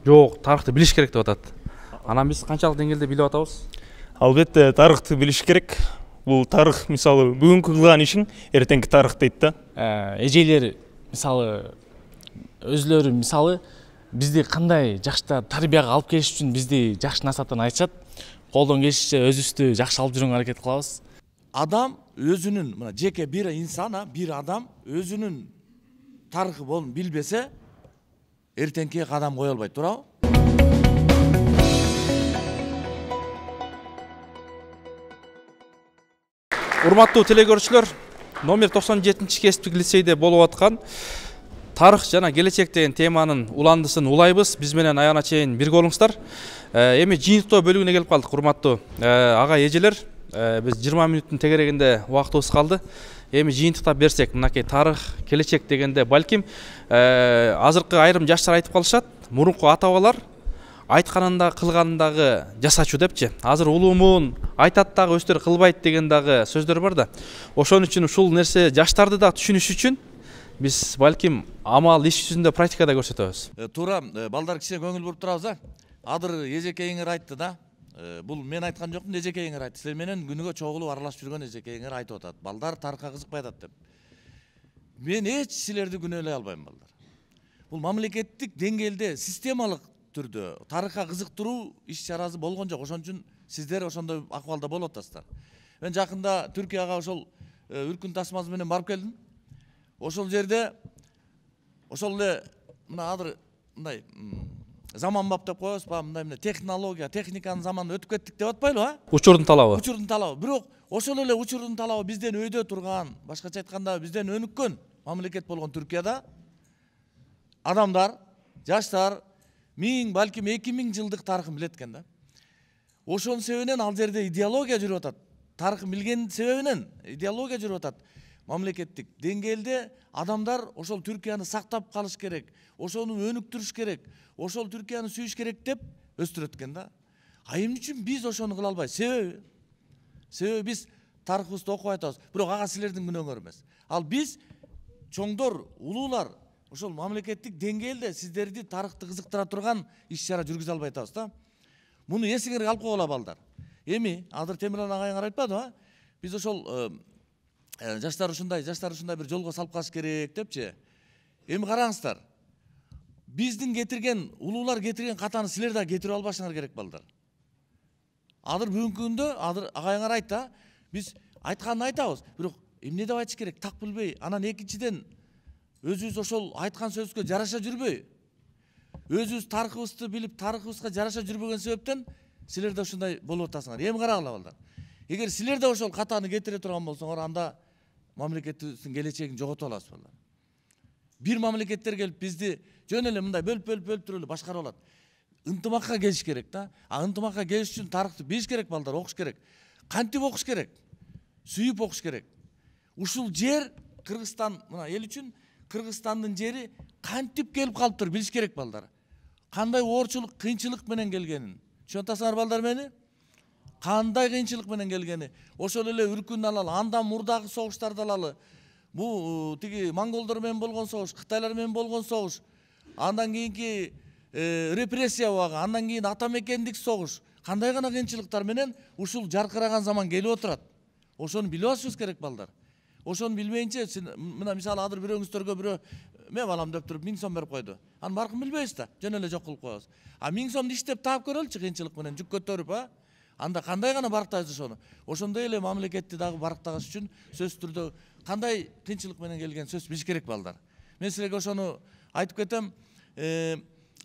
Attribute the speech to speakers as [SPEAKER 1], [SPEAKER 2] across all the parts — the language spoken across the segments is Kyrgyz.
[SPEAKER 1] Жок, тарыхты билиш керек деп атат. Анан биз канчалык деңгээлде билип атабыз?
[SPEAKER 2] Албетте тарыхты билиш керек. Бул тарых мисалы бүгүнкү кылган ишиң эртеңки тарых дейт да.
[SPEAKER 3] Эжелер мисалы өзлөрү мисалы бизди кандай жакшы тарбияга алып келиш үчүн бизди жакшы насааттан айтышат. Колдон келишинче өзүбүздү жакшы алып жүргөнгө аракет кылабыз.
[SPEAKER 4] Адам өзүнүн мына жеке бир инсан, бир адам өзүнүн тарыхы болуп билбесе, эртеңки кадам кое албайт, туурабы?
[SPEAKER 1] Урматтуу телекөрүүчүлөр, номер 97 кесиптик лицейде болуп аткан тарых жана келечек деген теманын уландысын улайбыз. Биз менен аягына чейин бирге болуңуздар. Эми жыйынтыктоо бөлүгүнө келип калдык, урматтуу ага эжелер. Биз 20 мүнөттүн тегерегинде убактыбыз калды. Эми жыйынтыктап берсек, мынакей тарых, келечек дегенде балким азыркы айрым жаштар айтып калышат, мурунку ата-бабалар айтканында кылгандагы жасачу депчи. Азыр улуумун айтат дагы өздөрү кылбайт деген дагы сөздөр бар да. Ошон үчүн ушул нерсе жаштарды да түшүнүш үчүн биз балким амал иш жүзүндө практикада көрсөтөбүз.
[SPEAKER 4] Туура, балдар кичине көңүл буруп турабыз, Адыр эжекейиңер айтты да. Бул мен айткан жокмун, эжекейиңер айтты. Силер менен күнүгө чогулуп аралашып жүргөн эжекейиңер айтып атат. Балдар тарыхка кызыкпай атат деп. Мен эч силерди күнөөлөй албайм, балдар. Бул мамлекеттик деңгээлде системалык түрдө тарыхка кызыктыруу иш-чарасы болгон жок. Ошон үчүн сиздер ошондой акыбалда болуп атасыздар. Мен жакында Түркияга ошол үркүн тасмасы менен барып келдим. Ошол жерде ошол эле мына азыр мындай заманбап деп коебуз, мындай технология, техниканын заманына өтүп кеттик деп атпайлыбы,
[SPEAKER 1] Учурдун талабы.
[SPEAKER 4] Учурдун талабы. Бирок ошол эле учурдун талабы бизден өйдө турган, башкача айтканда бизден өнүккөн мамлекет болгон Түркияда адамдар, жаштар 1000, балким 2000 жылдык тарыхын билет экен да. Ошонун себебинен ал жерде идеология жүрүп атат. Тарыхын билген себебинен идеология жүрүп атат. Мамлекеттик деңгээлде адамдар ошол Түркияны сактап калыш керек, ошону өнүктүрүш керек, ошол Түркияны сүйүш керек деп өстүрөт экен да. Эмне үчүн биз ошону кыла албайбыз? Себеби биз тарыхыбызды окубай атабыз. Бирок ага силердин күнөөңөр эмес. Ал биз чоңдор, улуулар ошол мамлекеттик деңгээлде сиздерди тарыхты кызыктыра турган иш-чара жүргүзө албай атабыз да. Муну эсиңерге алып койгула, балдар. Эми азыр Темирлан агайыңар айтпадыбы? Биз ошол жаштар ушундай бир жолго салып калыш керек депчи. Эми караңыздар. Биздин кетирген, улуулар кетирген катаны силер да кетирип албашыңар керек, балдар. Азыр бүгүнкү күндө азыр агайыңар айтты, биз айтканын айтабыз, бирок эмне деп айтыш керек, так билбей. Анан экинчиден өзүбүз ошол айткан сөзгө жараша жүрбөй. Өзүбүз тарыхыбызды билип, тарыхыбызга жараша жүрбөгөн себептен силер да ушундай болуп атасыңар. Эми карагыла, балдар. Эгер силер да ошол катаны кетире турган болсоңор, анда мамлекетибиздин келечегин жоготуп аласыз, балдар. Бир мамлекеттер келип бизди жөн эле мындай бөлүп туруп эле башкарып алат. Ынтымакка келиш керек да. Ынтымакка келиш үчүн тарыхты билиш керек, балдар, окуш керек. Кантип окуш керек? Сүйүп окуш керек. Ушул жер Кыргызстан, мына эл үчүн Кыргызстандын жери кантип келип калыптыр билиш керек, балдар. Кандай оорчулук, кыйынчылык менен келгенин. Түшүнүп атасыңар, балдар, мени? Кандай кыйынчылык менен келгени. Ошол эле үркүн алалы, андан мурдагы согуштарды алалы. Бул тиги монголдор менен болгон согуш, кытайлар менен болгон согуш, андан кийинки репрессия убагы, андан кийин ата мекендик согуш, кандай гана кыйынчылыктар менен ушул жаркыраган заман келип отурат. Ошону билип алышыбыз керек, балдар. Ошону билбейинче, мына мисалы азыр бирөөңүздөргө бирөө мен балам деп туруп 1000 сом берип койду. Анын баркын билбейбиз да, жөн эле жок кылып коебуз. 1000 сомду иштеп таап көрөлүчү, кыйынчылык менен жүк көтөрүп, анда кандай гана барктайбыз ошону. Ошондой эле мамлекетти дагы барктагыш үчүн сөзсүз түрдө кандай кыйынчылык менен келген сөз билиш керек, балдар. Мен силерге ошону айтып кетем.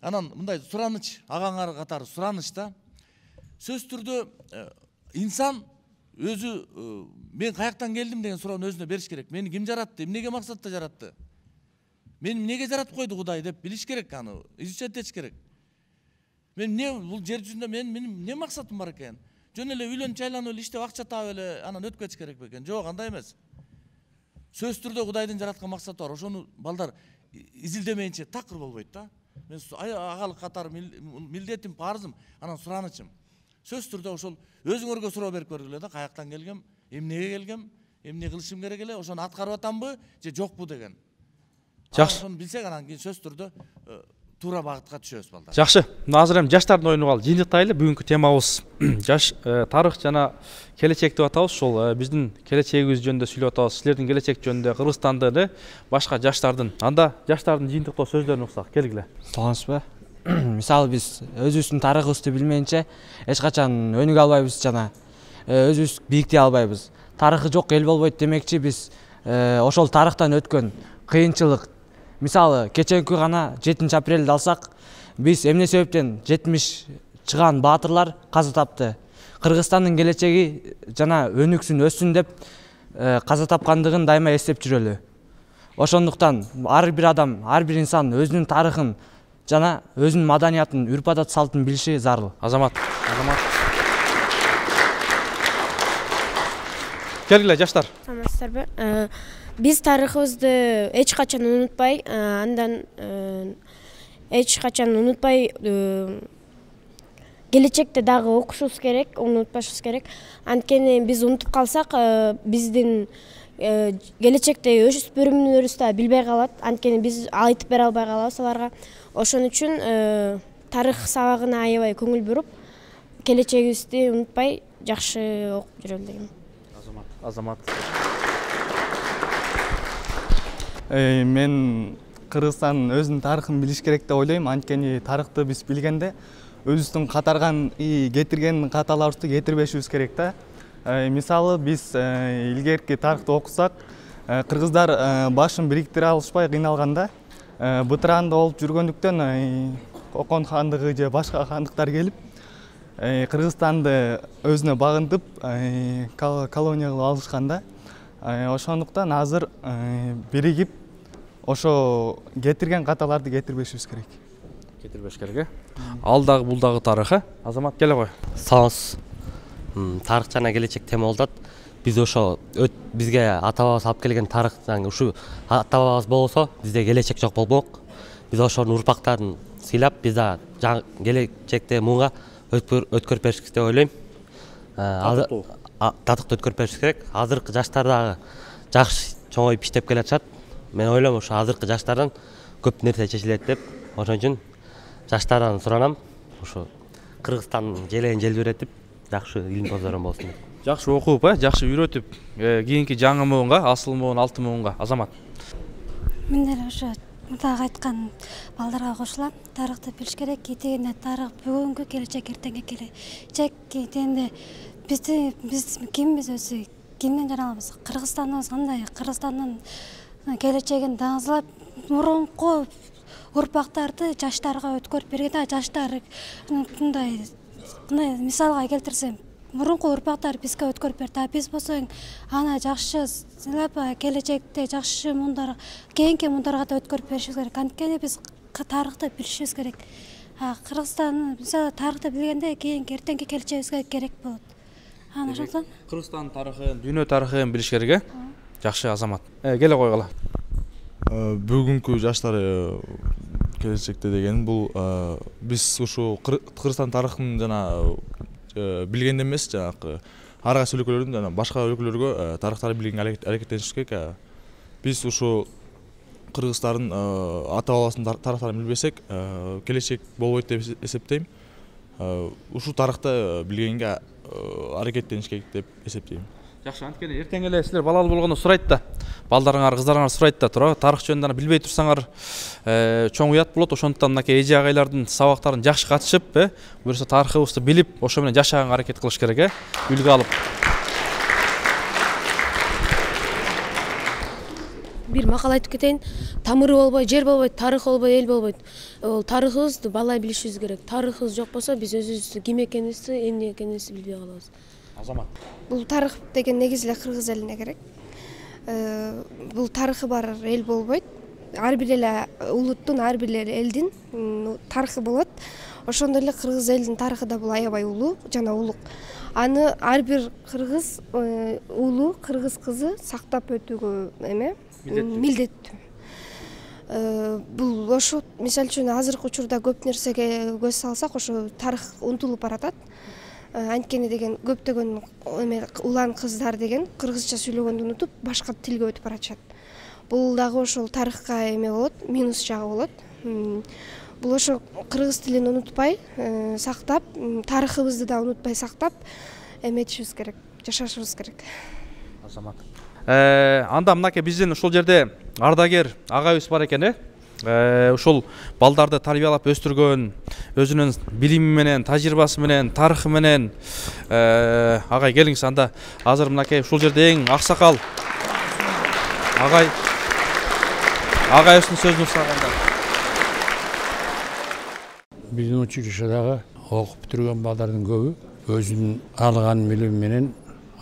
[SPEAKER 4] Анан мындай сураныч, агаңар катары сураныч да. Сөзсүз түрдө инсан өзү мен каяктан келдим деген суроону өзүнө бериш керек. Мени ким жаратты, эмнеге максатта жаратты? Мени эмнеге жаратып койду Кудай деп билиш керек, аны изучать этиш керек. Мен эмне бул жер жүзүндө менин эмне максатым бар экен? Жөн эле үйлөнүп жайланып эле иштеп акча таап эле анан өтүп кетиш керек бекен? Жок, андай эмес. Сөзсүз түрдө Кудайдын жараткан максаты бар. Ошону балдар изилдемейинче такыр болбойт да. Мен агалык катары милдетим, парызым, анан суранычым. Сөзсүз түрдө ошол өзүңөргө суроо берип көргүлө да, каяктан келгем, эмнеге келгем, эмне кылышым керек эле, ошону аткарып атамбы же жокпу деген.
[SPEAKER 1] Жакшы.
[SPEAKER 4] Ошону билсек, анан кийин сөзсүз түрдө туура багытка түшөбүз балдар.
[SPEAKER 1] Жакшы. Азыр эми жаштардын оюну калды. Жыйынтыктайлы. Бүгүнкү темабыз жаш тарых жана келечек деп атабыз. Ошол биздин келечегибиз жөнүндө сүйлөп атабыз. Силердин келечек жөнүндө Кыргызстандын башка жаштардын, анда жаштардын жыйынтыктоо сөздөрүн уксак, келгиле.
[SPEAKER 5] Саламатсызбы? Мисалы биз өзүбүздүн тарыхыбызды билмейинче эч качан өнүгө албайбыз жана өзүбүз бийиктей албайбыз. Тарыхы жок эл болбойт демекчи биз ошол тарыхтан өткөн кыйынчылык, мисалы кечээки гана 7-апрелди алсак, биз эмне себептен 70 чыган баатырлар каза тапты. Кыргызстандын келечеги жана өнүксүн, өссүн деп каза тапкандыгын дайыма эстеп жүрөлү. Ошондуктан ар бир адам, ар бир инсан өзүнүн тарыхын жана өзүнүн маданиятын, үрп-адат салтын билиши зарыл.
[SPEAKER 1] Азамат. Келгиле жаштар.
[SPEAKER 6] Саламатсыздарбы? Биз тарыхыбызды эч качан унутпай, андан эч качан унутпай келечекте дагы окушубуз керек, унутпашыбыз керек. Анткени биз унутуп калсак, биздин келечекте өспүрүмүнөрүбүз да билбей калат. Анткени биз айтып бере албай калабыз аларга. Ошон үчүн тарых сабагына аябай көңүл буруп, келечегибизди унутпай жакшы окуп жүрөлү дегем.
[SPEAKER 1] Азамат.
[SPEAKER 7] Мен Кыргызстандын өзүнүн тарыхын билиш керек деп ойлойм. Анткени тарыхты биз билгенде өзүбүздүн катарган кетирген каталарыбызды кетирбешибиз керек да. Мисалы биз илгерки тарыхты окусак, кыргыздар башын бириктире алышпай кыйналганда, бытыранда болуп жүргөндүктөн Кокон хандыгы же башка хандыктар келип, Кыргызстанды өзүнө багынтып, колония кылып алышканда, ошондуктан азыр биригип ошо кетирген каталарды кетирбешибиз керек.
[SPEAKER 1] Кетирбеш керек. Ал дагы бул дагы тарыхы. Азамат, келе кой.
[SPEAKER 8] Саламатсыз. Тарых жана келечек тема болот. Биз ошо бизге ата-бабабыз алып келген тарых, ушу ата-бабабыз болсо, бизде келечек жок болмок. Биз ошонун урпактарын сыйлап, биз да келечекте муңга өткөрүп беришибиз деп ойлойм. Татыктуу өткөрүп беришибиз керек. Азыркы жаштар дагы жакшы чоңоюп иштеп келатышат. Мен ойлойм, ошо азыркы жаштардан көп нерсе чечилет деп. Ошон үчүн жаштардан суранам, ошо Кыргызстандын желегин желбиретип, жакшы илим бозорун болсун деп.
[SPEAKER 1] Жакшы окуп, жакшы үйрөтүп, кийинки жаңы муунга, асыл муун, алтын муунга. Азамат.
[SPEAKER 9] Мен деле ошо мурдагы айткан балдарга кошулам. Тарыхты билиш керек. Кетегенде тарых бүгүнкү, келечек эртеңки келечек. Кетегенде биз кимбиз өзү, кимден жаралабыз? Кыргызстаныбыз кандай? Кыргызстандын келечегин даңызлап, мурунку урпактарды жаштарга өткөрүп бергенде, жаштар мындай мисалга келтирсем, мурунку урпактар бизге өткөрүп берди. Биз болсо аны жакшы сыйлап, келечекте жакшы муундар, кийинки муундарга да өткөрүп беришибиз керек. Анткени биз тарыхты билишибиз керек. Кыргызстан мисалы тарыхты билгенде кийинки эртеңки келечегибизге керек болот. Ошондон
[SPEAKER 1] Кыргызстан тарыхын, дүйнө тарыхын билиш керек. Жакшы, Азамат. Келе койгула.
[SPEAKER 10] Бүгүнкү жаштар келечекте деген бул биз ушу Кыргызстан тарыхын жана билгенде эмес, жанагы ар кайсы өлкөлөрдүн жана башка өлкөлөргө тарыхтарды билгенге аракеттенишибиз керек. Биз ушу кыргыздардын ата-бабасынын тарыхтарын билбесек, келечек болбойт деп эсептейм. Ушу тарыхты билгенге аракеттениш керек деп эсептейм.
[SPEAKER 1] Жакшы, анткени эртең эле силер балалуу болгондо сурайт да. Балдарыңар, кыздарыңар сурайт да, туура, тарых жөнүндө билбей турсаңар чоң уят болот. Ошондуктан мынакей эже агайлардын сабактарын жакшы катышып, буюрса тарыхыбызды билип, ошо менен жашаганга аракет кылыш керек, үлгү алып.
[SPEAKER 11] Бир макал айтып кетейин. Тамыры болбой, жер болбойт, тарых болбой, эл болбойт. Ол тарыхыбызды балай билишибиз керек. Тарыхыбыз жок болсо, биз өзүбүздү ким экенибизди, эмне экенибизди билбей калабыз.
[SPEAKER 1] Азамат.
[SPEAKER 12] Бул тарых деген негизи эле кыргыз элине керек. Бул тарыхы бар эл болбойт. Ар бир эле улуттун, ар бир эле элдин тарыхы болот. Ошондой эле кыргыз элинин тарыхы да бул аябай улуу жана улук. Аны ар бир кыргыз улуу, кыргыз кызы сактап өтүүгө милдеттүү. Бул ошо мисалы үчүн азыркы учурда көп нерсеге көз салсак, ошо тарых унутулуп баратат. Анткени деген көптөгөн улан кыздар деген кыргызча сүйлөгөндү унутуп, башка тилге өтүп баратышат. Бул дагы ошол тарыхка эме болот, минус жагы болот. бул ошо кыргыз тилин унутпай сактап, тарыхыбызды да унутпай сактап эметишибиз керек, жашашыбыз керек.
[SPEAKER 1] Азамат. Анда мынакей биздин ушул жерде ардагер агайыбыз бар экен, ушул балдарды тарбиялап өстүргөн, өзүнүн билими менен, тажрыйбасы менен, тарыхы менен. Агай келиңиз, анда азыр мынакей ушул жерде эң аксакал агайыбыздын сөзүн уктаганда.
[SPEAKER 13] Биздин училищедагы окуп бүтүргөн балдардын көбү өзүнүн алган билими менен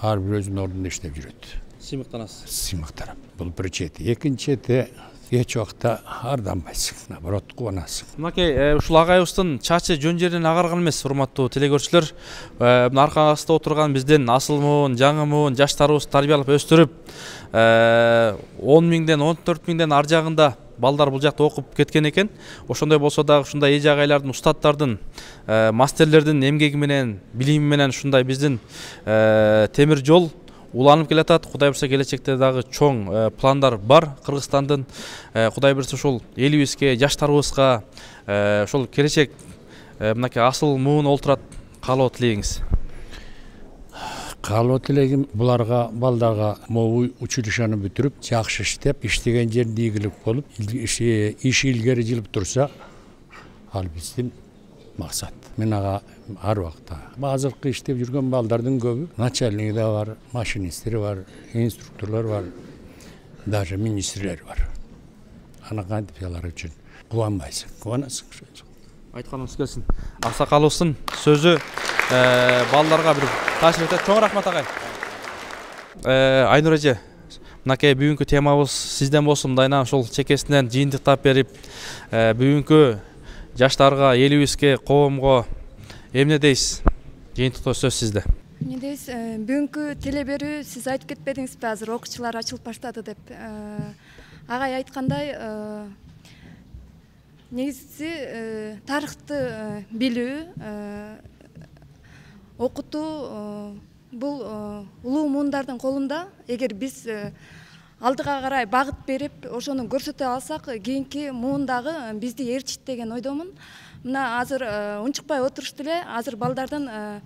[SPEAKER 13] ар бир өзүнүн ордунда иштеп жүрөт.
[SPEAKER 1] Сыймыктанасыз.
[SPEAKER 13] Сыймыктанам. Бул бир чети. Экинчи чети эч убакта арданбайсың, наоборот кубанасың.
[SPEAKER 1] Мынакей ушул агайыбыздын чачы жөн жеринен агарган эмес, урматтуу телекөрүүчүлөр. Мына аркаңызда отурган биздин асыл жаңы муун жаштарыбызды тарбиялап өстүрүп, 10 миңден 14 миңден ар жагында балдар бул жакта окуп кеткен экен. Ошондой болсо дагы ушундай эже агайлардын, устаттардын, мастерлердин эмгеги менен, билими менен ушундай биздин темир жол уланып келатат. Кудай буюрса келечекте дагы чоң пландар бар Кыргызстандын. Кудай буюрса ушул элибизге, жаштарыбызга ошол келечек мынакей асыл муун олтурат. Каалоо тилегиңиз?
[SPEAKER 13] Каалоо тилегим буларга, балдарга могу училищаны бүтүрүп, жакшы иштеп, иштеген жеринде ийгилик болуп, иши илгери жылып турса, ал биздин максат. Мен ага ар убакта азыркы иштеп жүргөн балдардын көбү начальниги да бар, машинисттери бар, инструкторлор бар, даже министрлер бар. Ана кантип алар үчүн кубанбайсың, кубанасың.
[SPEAKER 1] Айтканыңыз келсин. Аксакалыбыздын сөзү балдарга бир таасир этет. Чоң рахмат агай. Айнур эже, мынакей бүгүнкү темабыз сизден болсун. Мындайынан ошол чекесинен жыйынтыктап берип, бүгүнкү жаштарга, элибизге, коомго эмне дейсиз? Жыйынтыктоо сөз сизде.
[SPEAKER 14] Эмне дейсиз? Бүгүнкү телеберүү сиз айтып кетпедиңизби, азыр окуучулар ачылып баштады деп. Агай айткандай, негизи тарыхты билүү, окутуу бул улуу муундардын колунда. Эгер биз алдыга карай багыт берип, ошону көрсөтө алсак, кийинки муундагы бизди ээрчит деген ойдомун. Мына азыр унчукпай отурушту эле, азыр балдардын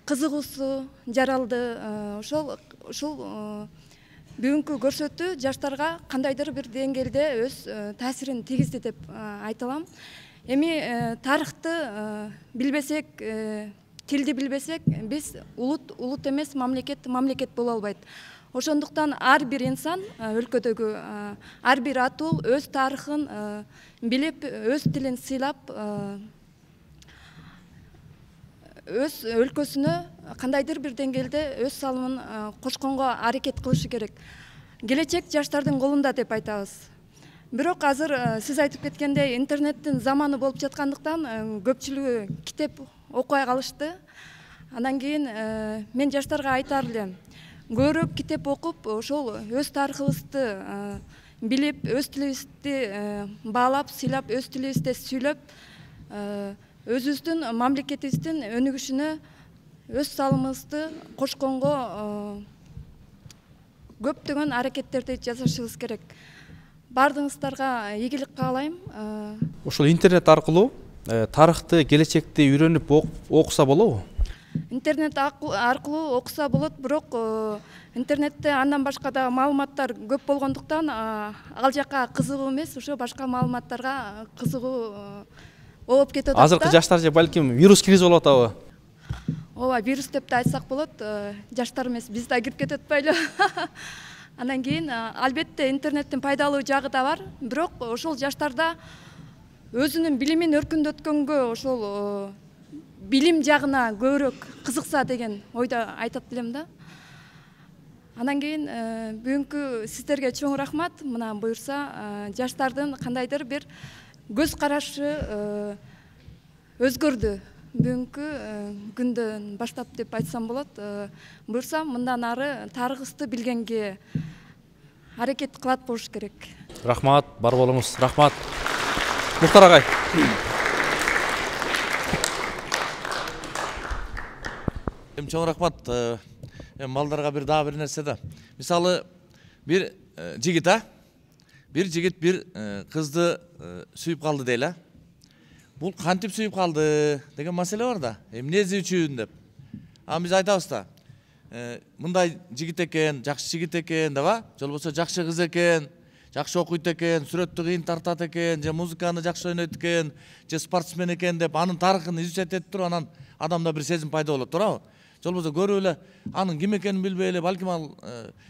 [SPEAKER 14] кызыгуусу жаралды. Ушул бүгүнкү көрсөтүү жаштарга кандайдыр бир деңгээлде өз таасирин тийгизди деп айта алам. Эми тарыхты билбесек, тилди билбесек, биз улут эмес, мамлекет боло албайт. Ошондуктан ар бир инсан, өлкөдөгү ар бир атуу өз тарыхын билип, өз тилин сыйлап, өз өлкөсүнө кандайдыр бир деңгээлде өз салымын кошконго аракет кылышы керек. Келечек жаштардын колунда деп айтабыз. Бирок азыр сиз айтып кеткендей интернеттин заманы болуп жаткандыктан көпчүлүгү китеп окуй калышты. Андан кийин мен жаштарга айтар элем, көбүрөөк китеп окуп, ошол өз тарыхыбызды билип, өз тилибизди баалап, сыйлап, өз тилибизде сүйлөп, өзүбүздүн мамлекетибиздин өнүгүшүнө өз салымыбызды кошконго көптөгөн аракеттерди жасашыбыз керек. Бардыгыңыздарга ийгилик каалайм.
[SPEAKER 1] Ошол интернет аркылуу тарыхты, келечекти үйрөнүп окуса болобу?
[SPEAKER 14] Интернет аркылуу окуса болот, бирок интернетте андан башка да маалыматтар көп болгондуктан ал жакка кызыгуу эмес, ошо башка маалыматтарга кызыгуу болуп кетип атат.
[SPEAKER 1] Азыркы жаштар же балким вирус кирип алып атабы?
[SPEAKER 14] Ооба, вирус деп да айтсак болот. Жаштар эмес, биз да кирип кетип атпайлы. Андан кийин албетте интернеттин пайдалуу жагы да бар, бирок ошол жаштарда өзүнүн билимин өркүндөткөнгө, ошол билим жагына көбүрөөк кызыкса деген ойдо айтат элем да. Андан кийин бүгүнкү сиздерге чоң рахмат. Мына буюрса жаштардын кандайдыр бир көз карашы өзгөрдү. Бүгүнкү күндөн баштап деп айтсам болот. Буюрса мындан ары тарыхыбызды билгенге аракет кылат болуш керек.
[SPEAKER 1] Рахмат, бар болуңуз. Рахмат. Мухтар агай.
[SPEAKER 4] Чоң рахмат. Балдарга дагы бир нерсе да. Мисалы бир жигит бир кызды сүйүп калды дейли. бул кантип сүйүп калды деген маселе бар да. Эмнеси үчүн деп. Биз айтабыз да. Мындай жигит экен, жакшы жигит экен деп, же болбосо жакшы кыз экен, жакшы окуйт экен, сүрөттү кыйын тартат экен, же музыканы жакшы ойнойт экен, же спортсмен экен деп анын тарыхын изучать этип туруп, анан адамда бир сезим пайда болот, туурабы? Же болбосо көрүп эле анын ким экенин билбей эле, балким ал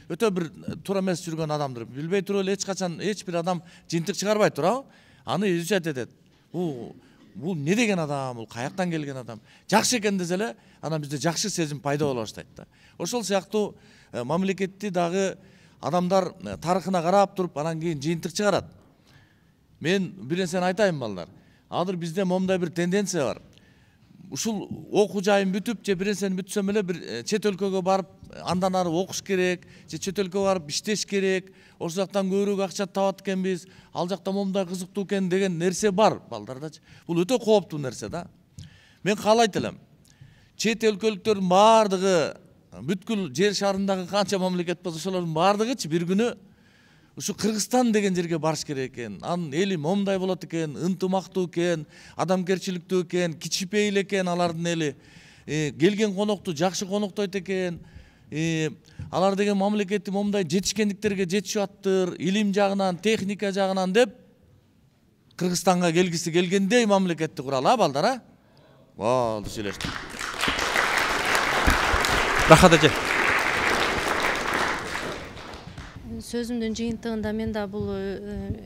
[SPEAKER 4] өтө бир туура эмес жүргөн адамдыр. Билбей туруп эле эч качан эч бир адам жыйынтык чыгарбайт, туурабы? Аны изучать этет. Бул не деген адам, бул каяктан келген адам? Жакшы экен десе эле, анан бизде жакшы сезим пайда боло баштайт да. Ошол сыяктуу мамлекетти дагы адамдар тарыхына карап туруп, анан кийин жыйынтык чыгарат. Мен бир нерсени айтайын балдар. Азыр бизде момундай бир тенденция бар. Ушул окуу жайын бүтүп, же бир нерсени бүтсөм эле бир чет өлкөгө барып, андан ары окуш керек, же чет өлкөгө барып иштеш керек. Ошол жактан көбүрөөк акча табат экенбиз, ал жакта момундай кызыктуу экен деген нерсе бар балдардачы. Бул өтө кооптуу нерсе да. Мен каалайт элем. Чет өлкөлүктөрдүн баардыгы, бүткүл жер шарындагы канча мамлекет болсо ошолордун баардыгычы бир күнү ушу Кыргызстан деген жерге барыш керек экен. Анын эли момундай болот экен, ынтымактуу экен, адамгерчиликтүү экен, кичипейил экен алардын эли. Келген конокту жакшы коноктойт экен. Алар деген мамлекетти момундай жетишкендиктерге жетишип аттыр, илим жагынан, техника жагынан деп Кыргызстанга келгиси келгендей мамлекетти куралы, балдар, а? Болду, сүйлөштүк.
[SPEAKER 1] Рахат эже.
[SPEAKER 15] Сөзүмдүн жыйынтыгында мен да бул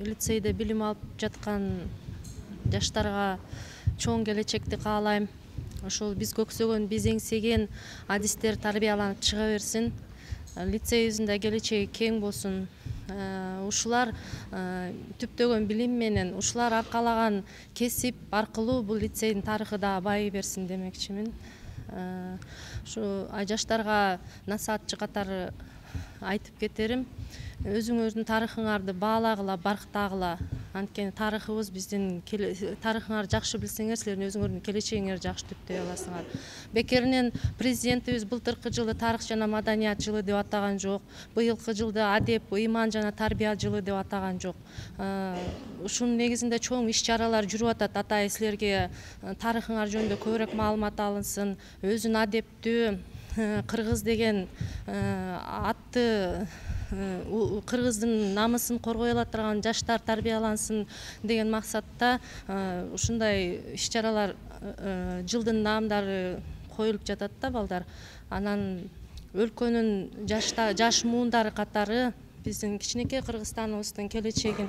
[SPEAKER 15] лицейде билим алып жаткан жаштарга чоң келечекти каалайм. Ошол биз көксөгөн, биз эңсеген адистер тарбияланып чыга берсин. Лицейибиздин келечеги кең болсун. Ушулар түптөгөн билим менен, ушулар аркалаган кесип аркылуу бул лицейдин тарыхы да байый берсин демекчимин. Ушу жаштарга насаатчы катары айтып кетерим. Өзүңөрдүн тарыхыңарды баалагыла, барктагыла. Анткени тарыхыбыз биздин тарыхыңарды жакшы билсеңер, силердин өзүңөрдүн келечегиңерди жакшы түптөй аласыңар. Бекеринен президентибиз былтыркы жылды тарых жана маданият жылы деп атаган жок. Быйылкы жылды адеп, ыйман жана тарбия жылы деп атаган жок. Ушунун негизинде чоң иш-чаралар жүрүп атат. Атайын силерге тарыхыңар жөнүндө көбүрөөк маалымат алынсын. Өзүн адептүү кыргыз деген атты кыргыздын намысын коргой ала турган жаштар тарбиялансын деген максатта ушундай иш-чаралар жылдын наамдары коюлуп жатат да, балдар. Анан өлкөнүн жаш муундары катары биздин кичинекей Кыргызстаныбыздын келечегин,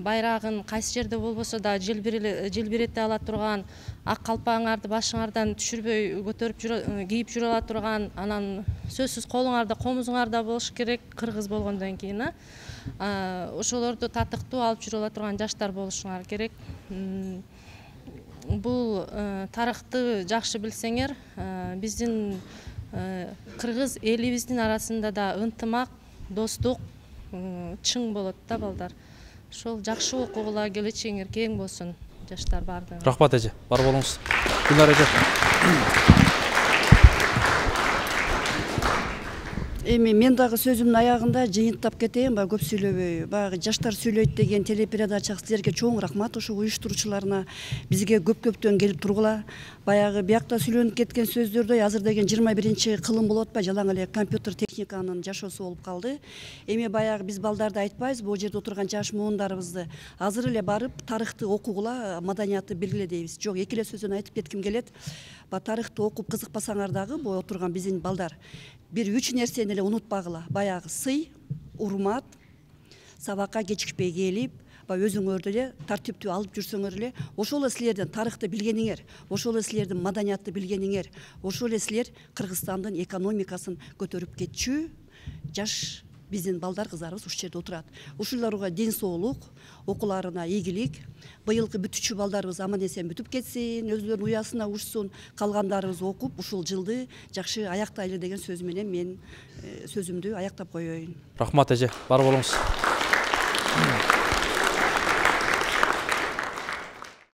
[SPEAKER 15] байрагын кайсы жерде болбосо да желбирете ала турган, ак калпагыңарды башыңардан түшүрбөй көтөрүп кийип жүрө ала турган, анан сөзсүз колуңарда комузуңарда болуш керек кыргыз болгондон кийин. Ошолорду татыктуу алып жүрө ала турган жаштар болушуңар керек. Бул тарыхты жакшы билсеңер, биздин кыргыз элибиздин арасында да ынтымак, достук чың болот да, балдар. Ошол жакшы окугула, келечегиңер кең болсун, жаштар бардыгы.
[SPEAKER 1] Рахмат эже, бар болуңуз. Гүлнар эже.
[SPEAKER 16] Эми мен дагы сөзүмдүн аягында жыйынтап кетейин, көп сүйлөбөй. Баягы жаштар сүйлөйт деген телепередача силерге чоң рахмат, ошо уюштуруучуларына, бизге көп-көптөн келип тургула. Баягы биякта сүйлөнүп кеткен сөздөрдөй азыр деген 21-кылым болуп атпайбы, жалаң эле компьютер техниканын жашоосу болуп калды. Эми баягы биз балдарды айтпайбызбы, бул жерде отурган жаш муундарыбызды азыр эле барып тарыхты окугула, маданиятты билгиле дейбиз. Жок, эки эле сөздөн айтып кетким келет. Тарыхты окуп кызыкпасаңар дагы, бул отурган биздин балдар бир 3 нерсени эле унутпагыла. Баягы сый, урмат, сабакка кечикпей келип, өзүңөрдү эле тартиптүү алып жүрсөңөр эле, ошол эле силердин тарыхты билгениңер, ошол эле силердин маданиятты билгениңер, ошол эле силер Кыргызстандын экономикасын көтөрүп кетчү жаш биздин балдар, кыздарыбыз ушул жерде отурат. Ушуларга ден соолук, окууларына ийгилик. Быйылкы бүтүчү балдарыбыз аман эсен бүтүп кетсин, өзүлөрүнүн уясына учсун, калгандарыбыз окуп, ушул жылды жакшы аяктайлы деген сөз менен мен сөзүмдү аяктап коеюн.
[SPEAKER 1] Рахмат эже, бар болуңуз.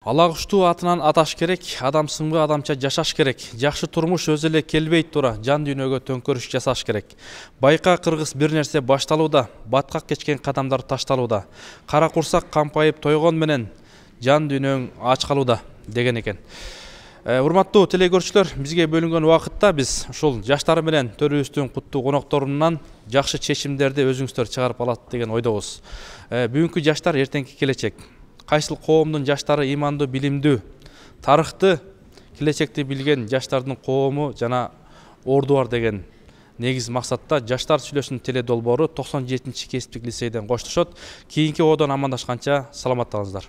[SPEAKER 1] Ала куштуу атынан аташ керек, адам сымга адамча жашаш керек. Жакшы турмуш өзү эле келбейт тура, жан дүйнөгө төңкөрүш жасаш керек. Байка кыргыз бир нерсе башталууда, баткак кечкен кадамдар ташталууда. Кара курсак кампайып тойгон менен жан дүйнөң ач калууда деген экен. Урматтуу телекөрүүчүлөр, бизге бөлүнгөн убакытта биз ушул жаштар менен төрүбүздүн куттуу конокторунан жакшы чечимдерди өзүңүздөр чыгарып алат деген ойдобуз. Бүгүнкү жаштар эртеңки келечек. Кайсыл коомдун жаштары ыймандуу, билимдүү, тарыхты, келечекти билген жаштардын коому жана орду бар деген негиз максатта жаштар сүйлөшүн теле долбоору 97-кесиптик лицейден коштошот. Кийинки одон амандашканча саламаттаңыздар.